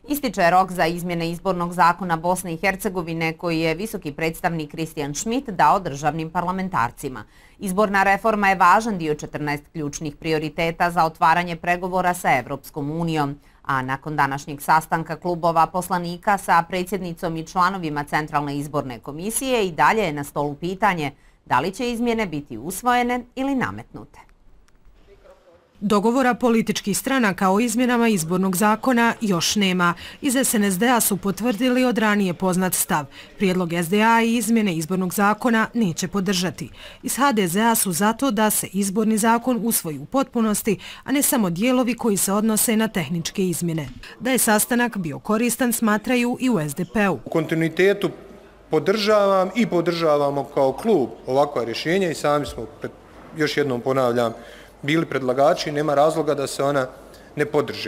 Ističe rok za izmjene izbornog zakona Bosne i Hercegovine koji je visoki predstavnik Christian Schmidt dao državnim parlamentarcima. Izborna reforma je važan dio 14 ključnih prioriteta za otvaranje pregovora sa Evropskom unijom, a nakon današnjeg sastanka klubova poslanika sa predsjednicom i članovima Centralne izborne komisije i dalje je na stolu pitanje da li će izmjene biti usvojene ili nametnute. Dogovora političkih stranaka o izmjenama izbornog zakona još nema. Iz SNSD-a su potvrdili od ranije poznat stav. Prijedlog SDA i izmjene izbornog zakona neće podržati. Iz HDZ-a su zato da se izborni zakon usvoji u potpunosti, a ne samo dijelovi koji se odnose na tehničke izmjene. Da je sastanak bio koristan smatraju i u SDP-u. U kontinuitetu podržavam i podržavamo kao klub ovakva rješenja i sami smo, još jednom ponavljam, bili predlagači i nema razloga da se ona ne podrži.